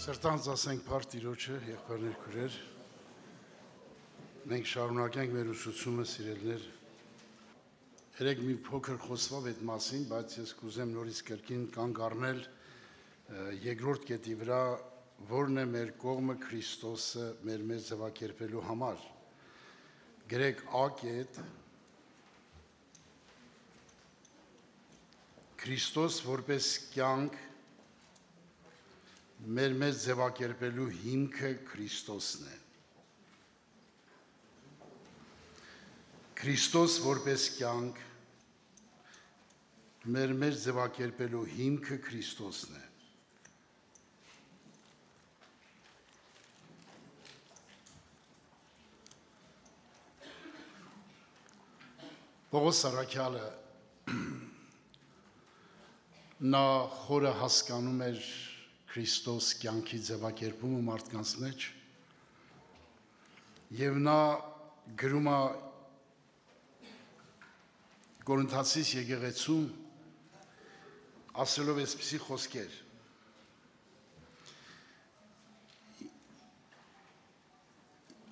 Սրտանց ասենք փառք Տիրոջը, եղբայրներ քույրեր, մենք շարունակենք մեր ուսուցումը, սիրելիներ։ Երեք մի փոքր խոսվավ այդ մասին, բայց ես կուզեմ նորից կրկին կանգ առնել երկրորդ կետի վրա, որն է մեր կողմը Քրիստոսը մեր մեծ ձևակերպելու համար։ Գրեք A կետ, Քրիստոս որպես կյանք մեր մեծ ձևակերպելու հիմքը Քրիստոսն է։ Քրիստոս որպես կյանք մեր մեծ ձևակերպելու հիմքը Քրիստոսն է։ Պողոս առաքյալը նա խորը հասկանում էր Քրիստոս կյանքի ձևակերպումը մարդկանց մեջ եւ նա գրում է Կորինթացիս եկեղեցում ասելով այսպիսի խոսքեր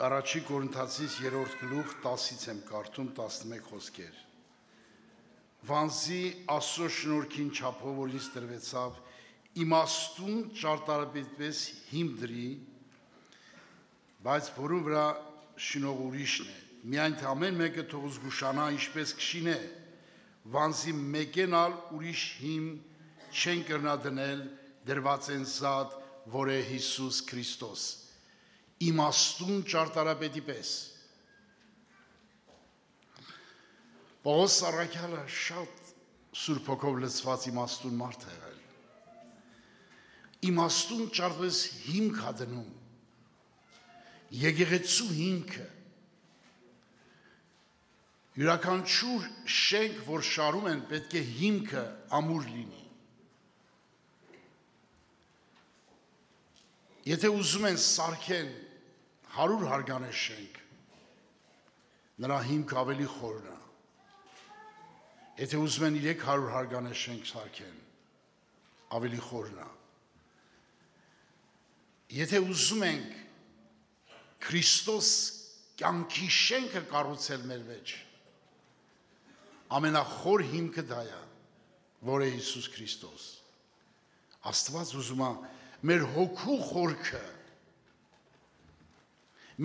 Առաջի Կորինթացիս 3-րդ գլուխ 10-ից եմ կարդում 11 խոսքեր Վանզի Աստծո շնորհքին չափով որ ինձ տրվեցավ իմաստուն ճարտարապետպես հիմք դրի, բայց որում վրա շնորհ ուրիշն է, միայն թե ամեն մեկը թող զգուշանա ինչպես կշին է, վանզի մեկենալ ուրիշ հիմ չեն կրնա դնել դրված են զատ, որ է Հիսուս Քրիստոս, իմաստուն ճարտարապետի պես։ Պողոս առաքյալը շատ Սուրբ Հոգով լցված իմաստուն մարդ է եղել։ Իմաստուն ճարտարապետս հիմք է դնում։ Եկեղեցու հիմքը։ Յուրաքանչյուր շենք, որ շարում են, պետք է հիմքը ամուր լինի։ Եթե ուզում են սարքեն 100 հարգանե շենք, նրա հիմքը ավելի խորն է։ Եթե ուզում են 300 հարգանե շենք սարքեն, ավելի խորն է։ Եթե ուզում ենք Քրիստոս կյանքի շենքը կառուցել մեր մեջ, ամենախոր հիմքը դա է, որ է Հիսուս Քրիստոս։ Աստված ուզում է մեր հոգու խորքը,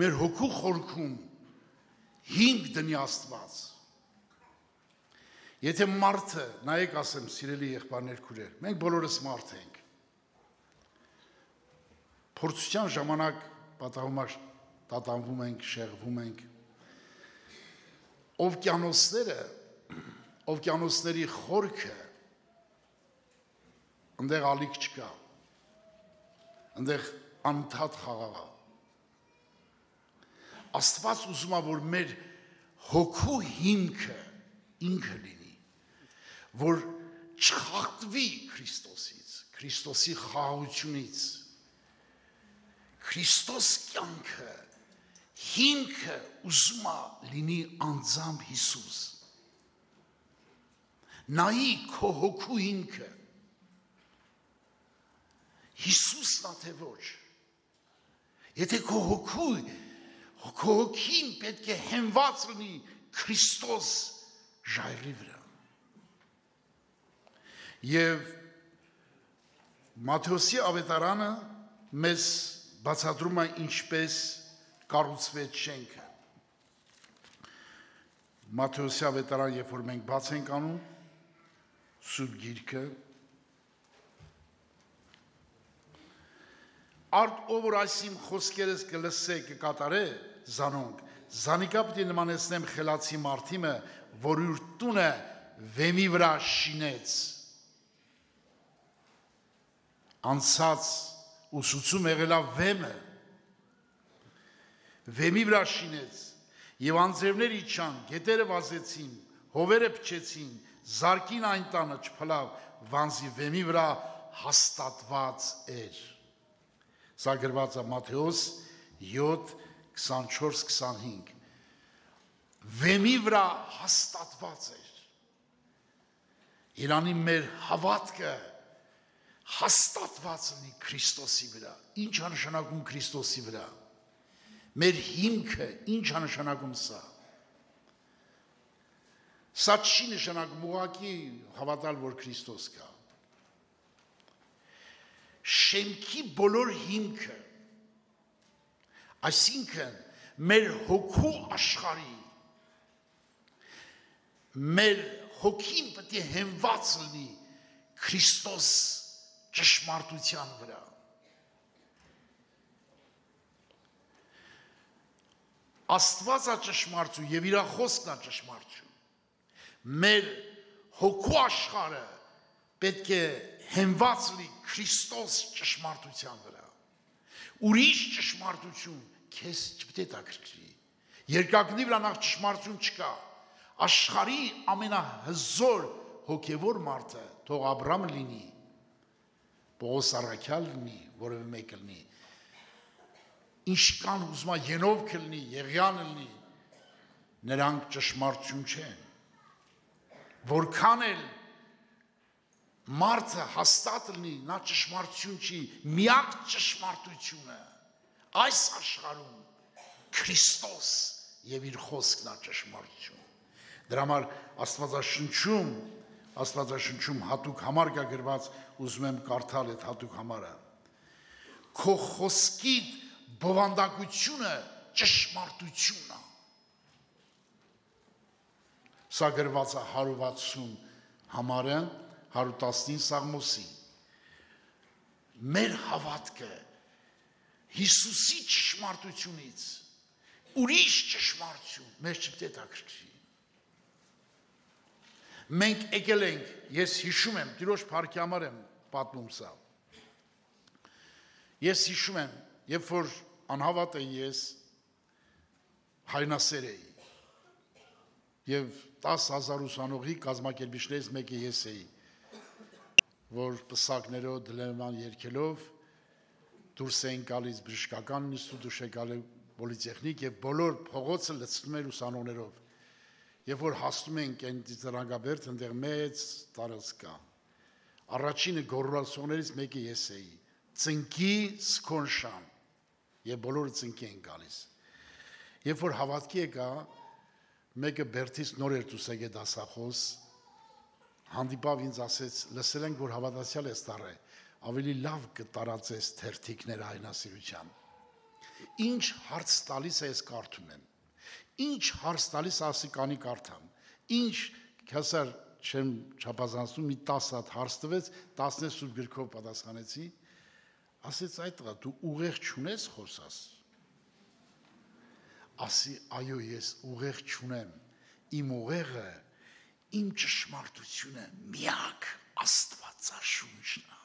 մեր հոգու խորքում հիմք դնի Աստված։ Եթե մարդը, նայեք ասեմ, սիրելի եղբայրներ քույրեր, մենք բոլորս մարդ ենք։ Փորձության ժամանակ պատահում ենք, շեղվում ենք։ Օվկիանոսների խորքը ընդեղ ալիք չկա։ Ընդեղ անընդհատ խաղաղ է։ Աստված ուզում է, որ մեր հոգու հիմքը ինքը լինի, որ չխախտվի Քրիստոսից, Քրիստոսի խաղաղությունից։ Քրիստոս կյանքը, հիմքը ուզում է լինի անձամբ Հիսուս։ Նայի քո հոգու հիմքը, Հիսուսն է թե ոչ։ Եթե քո հոգին պետք է հենված լինի Քրիստոս ժայռի վրա։ Եվ Մատթեոսի ավետարանը մեզ բացատրում է ինչպես կառուցվեց շենքը։ Մատթեոսի ավետարան, երբ որ մենք բաց ենք անում, Սուրբ Գիրքը, արդ ով որ այս իմ խոսքերս կլսե կկատարե զանոնք, զանիկա պիտի նմանեցնեմ խելացի մարդիմը, որ իր տունը վեմի վրա շինեց։ Անցած ուսուցում եղելա վեմը, վեմի վրա շինեց, և անձրևներ իջան, գետերը վազեցին, հովերը փչեցին, զարկին այն տանը չփլավ, վանզի վեմի վրա հաստատված էր։ Սա գրված է Մատթեոս 7:24-25։ Վեմի վրա հաստատված էր։ Իրանի մեր հավատքը հաստատված լինի Քրիստոսի վրա։ Ինչ է նշանակում Քրիստոսի վրա։ Մեր հիմքը ինչ է նշանակում սա։ Սա չի նշանակում ուղղակի հավատալ, որ Քրիստոս կա։ Շեմքի բոլոր հիմքը, այսինքն մեր հոգու աշխարհի, մեր հոգին պետք է հենված լինի Քրիստոս ճշմարտության վրա։ Աստվածը ճշմարտություն եւ իր խոսքն է ճշմարտություն։ Մեր հոգու աշխարհը պետք է հենված լինի Քրիստոս ճշմարտության վրա։ Ուրիշ ճշմարտություն քեզ չպետք է տակրկրի։ Երկակնի վրա նախ ճշմարտություն չկա։ Աշխարհի ամենահզոր հոգևոր մարդը թող Աբրամ լինի, Պողոս Առաքյալ լինի, որևէ մեկը լինի, ինչքան ուզում է Ենովք լինի, Եղիան լինի, նրանք ճշմարտություն չեն։ Որքան էլ մարդը հաստատ լինի, նա ճշմարտություն չի, միակ ճշմարտությունը այս աշխարհում Քրիստոս եւ իր խոսքն է ճշմարտություն։ Դրա համար Աստվածաշնչում հատուկ համար կա գրված, ուզում եմ կարդալ այդ հատուկ համարը։ Քո խոսքի բովանդակությունը ճշմարտությունն է։ Սա գրված է 160 համարը 119 Սաղմոսի։ Մեր հավատքը Հիսուսի ճշմարտությունից ուրիշ ճշմարտություն մեզ չպետք է տակրկրի։ Մենք եկել ենք, ես հիշում եմ, Տիրոջ փառքի համար եմ պատմում սա։ Ես հիշում եմ, երբ որ անհավատ էի ես հայնասեր էի եւ 10,000 ուսանողի կազմակերպիչներից մեկը ես էի, որ պսակներով դլեման երկելով դուրս էին գալիս բժշկական ինստիտուտ, գալի պոլիտեխնիկ եւ բոլոր փողոցը լցնում էր ուսանողներով։ Երբ որ հասնում ենք այն ծրագաբերդ, այնտեղ մեծ տարածք կա։ Առաջինը գոռալսողներից մեկը ես էի։ Ծնկի Սկոնշան եւ բոլորը ծնկի են գալիս։ Երբ որ հավատքի եկա, մեկը Բերթից նոր էր դուսեգե դասախոս, հանդիպավ ինձ ասեց, լսել ենք, որ հավատացյալ ես տարե, ավելի լավ կտարածես թերթիկներ հայնասիրության։ Ինչ հարց տալիս է ես կարդում եմ։ Ինչ հարց տալիս ասիկանի կարդամ։ Ինչ քասար չեմ չափազանցնում, մի 10 հատ հարց տվեց, 10 սուրբ գրքով պատասխանեցի։ Ասեց այդ տղա, դու ուղեղ չունես խոսաս։ Ասի, այո, ես ուղեղ չունեմ։ Իմ ուղեղը, իմ ճշմարտությունը միակ Աստվածաշունչն է։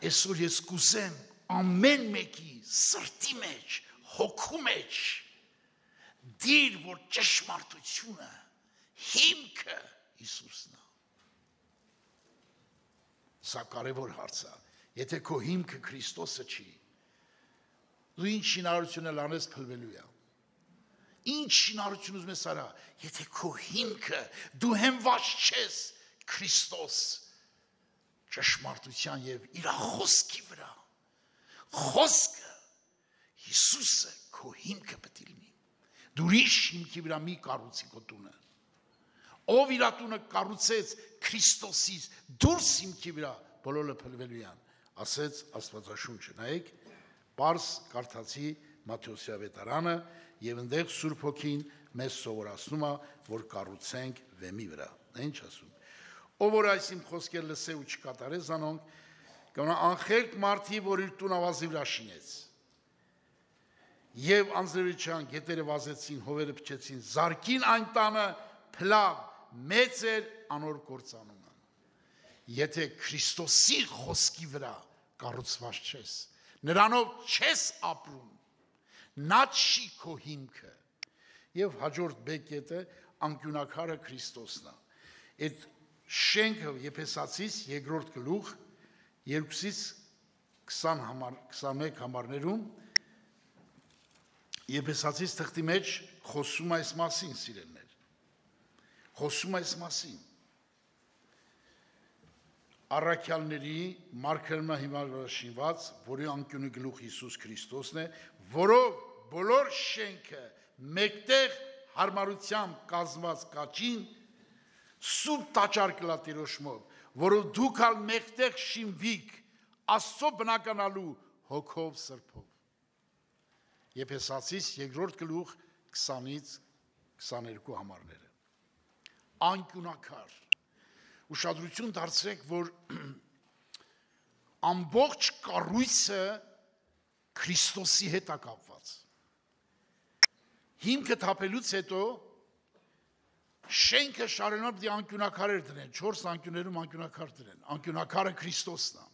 Այսօր ես կուզեմ ամեն մեկի սրտի մեջ, հոգու մեջ դիր, որ ճշմարտությունը հիմքը Հիսուսն է։ Սա կարևոր հարց է։ Եթե քո հիմքը Քրիստոսը չի, դու ինչ շինարարություն էլ անես փլվելու է։ Ինչ շինարարություն ուզում ես արա, եթե քո հիմքը դու հենված չես Քրիստոս ճշմարտության եւ իր խոսքի վրա, խոսքը Հիսուսը քո հիմքը պետք է լինի։ Դու ուրիշ հիմքի վրա մի կառուցի քո տունը։ Ով իր տունը կառուցեց Քրիստոսից դուրս հիմքի վրա, բոլորը փլվելու են, ասեց Աստվածաշունչը։ Նայեք, Պարս կարդացի Մատթեոս ավետարանը եւ այնտեղ Սուրբ Հոգին մեզ սովորացնում է, որ կառուցենք վեմի վրա։ Ինչ ասում։ Ով որ այս իմ խոսքերը լսե ու չկատարե զանոնք, կմնա անխելք մարդի, որ իր տուն ավազի վրա շինեց։ Եվ անձրևիչյան գետերը վազեցին, հովերը փչեցին, զարկին այն տանը, փլավ, մեծ էր անոր կործանումը։ Եթե Քրիստոսի խոսքի վրա կառուցված չես, նրանով չես ապրում, նա չի քո հիմքը։ Եվ հաջորդ բեկետը անկյունակարը Քրիստոսն է։ Այդ շենքը Եփեսացիս 2-րդ գլուխ 2-ից 21 համարներում Եփեսացիս թղթի մեջ խոսում այս մասին, սիրելիներ։ Խոսում այս մասին։ առաքյալների մարգարեմը հիմնավորված, որի անկյունի գլուխ Հիսուս Քրիստոսն է, որով բոլոր շենքը մեկտեղ հարմարությամբ կազմված կաճին սուրբ տաճար կլա Տիրոջմով, որով դուք ալ մեկտեղ շինվիք Աստծո բնականալու հոգով սրբով։ Եփեսացիս 2-րդ գլուխ 20-ից 22 համարները։ Անկյունակար։ Ուշադրություն դարձրեք, որ ամբողջ կառույցը Քրիստոսի հետ է կապված։ Հիմքը թափելուց հետո շենքը շարունակ դի անկյունակարեր դրեն, 4 անկյուններում անկյունակար դրեն, անկյունակարը Քրիստոսն է։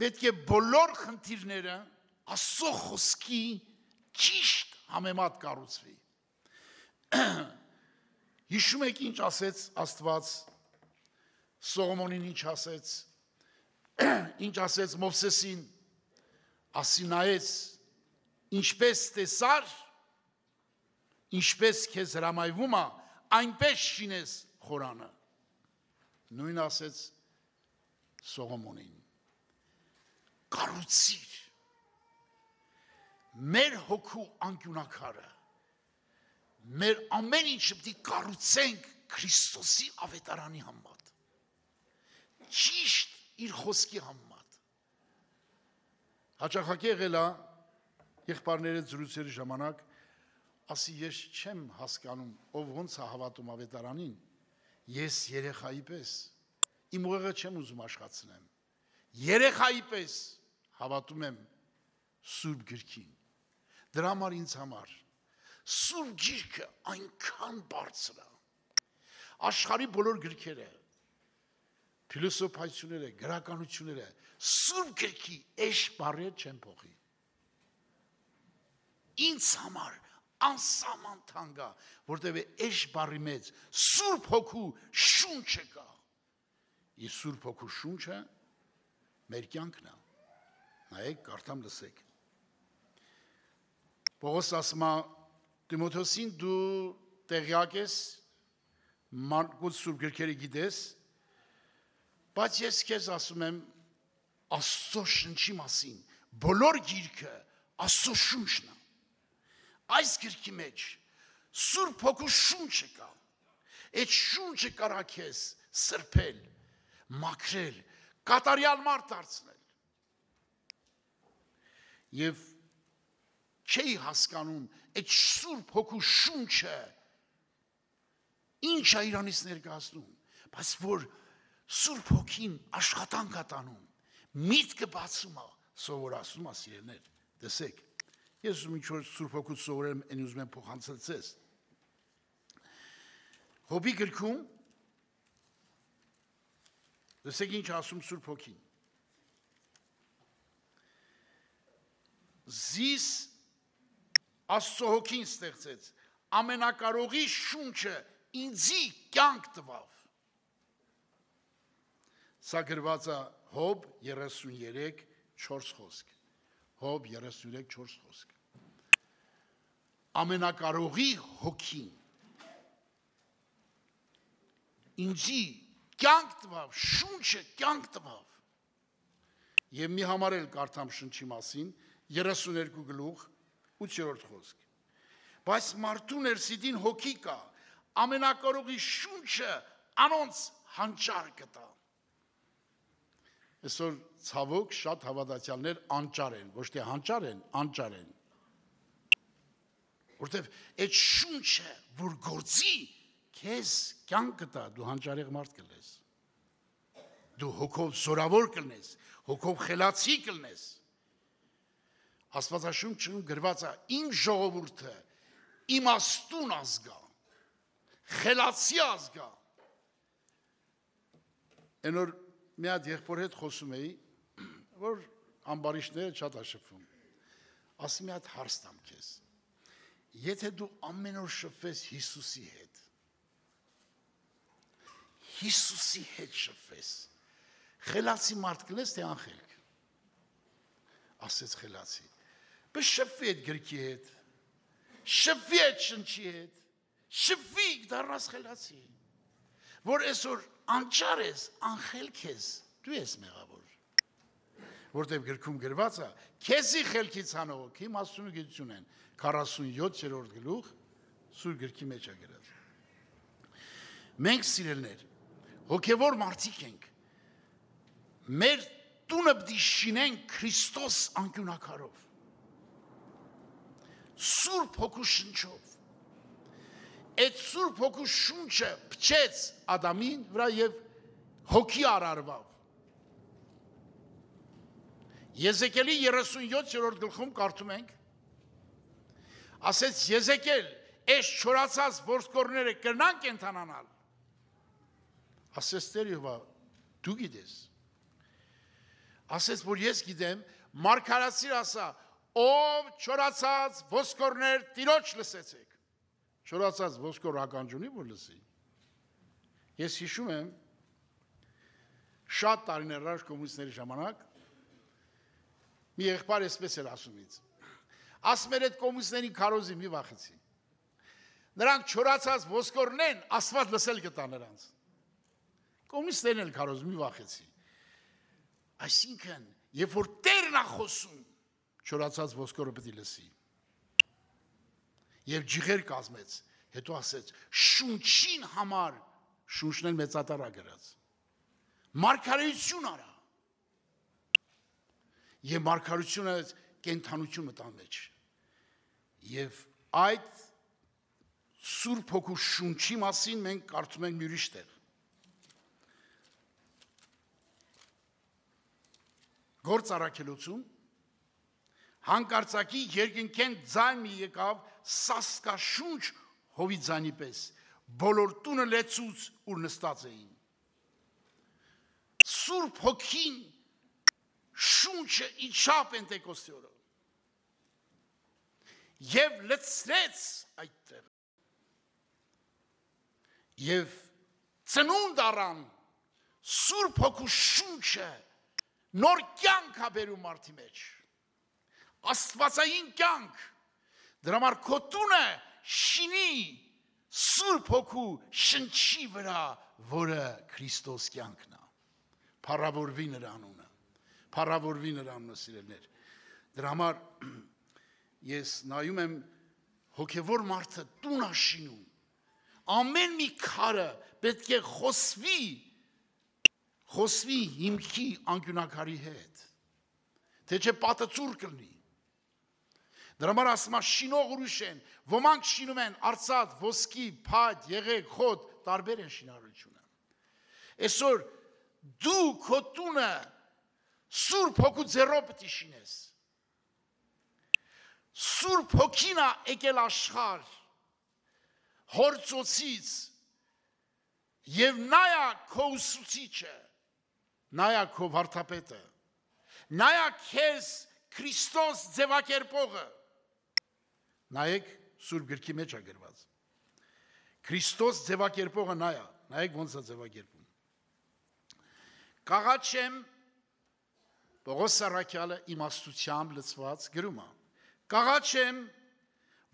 Պետք է բոլոր խնդիրները Աստծո խոսքի ճիշտ համեմատ կառուցվի։ Հիշում եք ինչ ասեց Աստված Սողոմոնին, ինչ ասեց, ինչ ասեց Մովսեսին, ասի նայեց, ինչպես տեսար, ինչպես քեզ հրամայվում է, այնպես շինես խորանը։ Նույն ասեց Սողոմոնին։ Կառուցիր մեր հոգու անկյունակարը, մեր ամեն ինչը պիտի կառուցենք Քրիստոսի ավետարանի համեմատ, ճիշտ իր խոսքի համեմատ։ Հաճախակի եղել է եղբայրների զրույցերի ժամանակ, ասի ես չեմ հասկանում, ով ոնց է հավատում ավետարանին, ես երեխայի պես, իմ ուղեղը չեմ ուզում աշխատացնեմ, երեխայի պես հավատում եմ Սուրբ Գրքին։ Դրա համար ինձ համար Սուրբ Գիրքը այնքան բարձր է։ Աշխարհի բոլոր գրքերը, փիլիսոփայությունները, գրականությունները Սուրբ Գրքի էշ բառեր չեն փոխի։ Ինձ համար անսահման թանկ է, որտեղ էշ բառի մեջ Սուրբ Հոգու շունչը կա։ Իսկ Սուրբ Հոգու շունչը մեր կյանքն է։ Նայեք, կարդամ լսեք։ Պողոս ասում է Տիմոթոսին, դու տեղյակ ես, Մարկոս Սուրբ գրքերը գիտես, բայց ես քեզ ասում եմ Աստծո շնչի մասին, բոլոր գիրքը Աստծո շունչն է։ Այս գրքի մեջ Սուրբ Հոգու շունչը կա։ Այդ շունչը կարա քեզ սրբել, մաքրել, կատարյալ մարդ դարձնել։ Եվ չի հասկանում այդ Սուրբ Հոգու շունչը ինչ է իրանից ներկայացնում, բայց որ Սուրբ Հոգին աշխատանք է տանում, միտքը բացում է, սովորացնում է սիրելիներ, տեսեք, ես ուզում ինչ որ Սուրբ Հոգուց սովորեմ, այն ուզում եմ փոխանցել ձեզ։ Հոբի գրքում տեսեք ինչ ասում Սուրբ Հոգին։ Զիս Աստծո Հոգին ստեղծեց, ամենակարողի շունչը ինձի կյանք տվավ։ Սա գրված է Հոբ 33:4 խոսք։ Հոբ 33:4 խոսք։ Ամենակարողի Հոգին ինձի կյանք տվավ, շունչը կյանք տվավ։ Եվ մի համար էլ կարդամ շնչի մասին, 32 գլուխ 8-րդ խոսք։ Բայց մարդու ներսիդին հոգի կա, ամենակարողի շունչը անոնց հանճար կտա։ Այսօր ցավոք շատ հավատացյալներ անճար են, ոչ թե հանճար են, անճար են։ Որտեվ այդ շունչը, որ գործի, քեզ կյանք կտա, դու հանճարեղ մարդ կլես։ Դու հոգով զորավոր կլնես, հոգով խելացի կլնես։ Աստվածաշունչում գրված է իմ ժողովուրդը իմաստուն ազգա, խելացի ազգա։ Այն որ մի հատ եղբոր հետ խոսում էի, որ ամբարիշները շատ աշփվում։ Ասի մի հատ հարց տամ քեզ։ Եթե դու ամեն օր շփվես Հիսուսի հետ, Հիսուսի հետ շփվես, խելացի մարդ կլես թե անխելք։ Ասեց խելացի։ Բայց շփվի այդ գրքի հետ, շփվի այդ շնչի հետ, շփվի դառնաս խելացի։ Որ այսօր անճար ես, անխելք ես, դու ես մեղավոր։ Որտև գրքում գրված է, քեզի խելքից հանող հոգի մասնագիտություն են, 47-րդ գլուխ Սուրբ գրքի մեջ է գրած։ Մենք սիրելներ, հոգևոր մարդիկ ենք, մեր տունը պիտի շինենք Քրիստոս անկյունակարով, Սուրբ Հոգու շնչով։ Այդ Սուրբ Հոգու շունչը փչեց Ադամին վրա եւ հոգի արարվավ։ Եզեկիելի 37-րդ գլխում կարդում ենք, ասեց Եզեկիել, այս չորացած ոսկորները կրնան կենթանանալ։ Ասեց Տեր Եհովա, դու գիտես։ Ասեց, որ ես գիտեմ, մարգարացիր ասա, ով չորացած ոսկորներ Տիրոջ լսեցեք։ Չորացած ոսկոր ականջունի որ լսի։ Ես հիշում եմ, շատ տարիներ առաջ կոմունիստների ժամանակ, մի եղբայր էսպես էր ասում ինձ. ասում էր այդ կոմունիստների քարոզի մի վախեցի։ Նրանք չորացած ոսկորներն Աստված լսել կտա նրանց։ Կոմունիստներն էլ քարոզի մի վախեցի։ Այսինքն, երբ որ Տերն է խոսում, չորացած ոսկորը պետք է լսի։ Եվ ջիղեր կազմեց, հետո ասեց, շունչին համար, շունչն էլ մեծատարա գրած։ Մարգարեություն արա։ Եվ մարգարությունը կենթանություն մտան մեջ։ Եվ այդ Սուրբ Հոգու շունչի մասին մենք կարդում ենք մի ուրիշ տեղ։ Գործ առաքելություն հանկարծակի երկնքեն ձայն մի եկավ սասկաշունչ հովի ձայնի պես, բոլոր տունը լեցուց ուր նստած էին։ Սուրբ Հոգին շունչը իջավ Պենտեկոստի օրը եւ լցրեց այդտեղ եւ ծնունդ առան Սուրբ Հոգու շունչը նոր կյանք է բերում մարդի մեջ, աստվածային կյանք, դրա համար քո տունը շինի Սուրբ Հոգու շնչի վրա, որը Քրիստոս կյանքն է, փառավորվի նրա անունը, փառավորվի նրա անունը սիրելիներ, դրա համար ես նայում եմ հոգևոր մարդը տուն է շինում, ամեն մի քարը պետք է խոսվի հիմքի անկյունակարի հետ, թե չէ պատը ծուր կլնի։ Դրա համար ասում է շինող ուրիշ են, ոմանք շինում են արծաթ, ոսկի, փայտ, եղեգ, խոտ, տարբեր են շինարարությունը։ Այսօր դու քո տունը Սուրբ Հոգու ձեռով պետք է շինես։ Սուրբ Հոգին է եկել աշխարհ հոր ծոցից եւ նայա քո ուսուցիչը, նայա քո վարդապետը, նայա քեզ Քրիստոս ձևակերպողը, նայեք Սուրբ գրքի մեջ է գրված, Քրիստոս ձևակերպողը նայեք ոնց է ձևակերպում։ Կաղաչեմ Պողոս Սարաքյալը իմաստությամբ լցված գրում է, կաղաչեմ,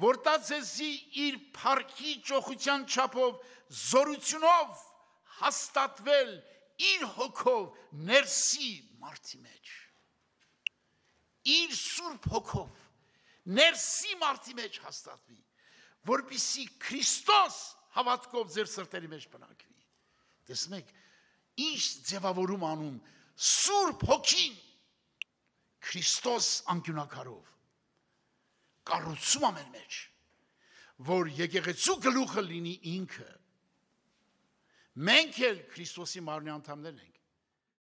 որ դա ձեզի իր փառքի ճոխության չափով զորությունով հաստատվել իր հոգով ներսի մարդի մեջ, իր Սուրբ Հոգով ներսի մարդի մեջ հաստատվի, որպեսզի Քրիստոս հավատքով ձեր սրտերի մեջ բնակվի։ Տեսնում եք, ինչ ձևավորում անում Սուրբ Հոգին Քրիստոս անկյունակարով կառուցում ամեն մեջ, որ եկեղեցու գլուխը լինի ինքը։ Մենք էլ Քրիստոսի մարմնի անդամներ ենք։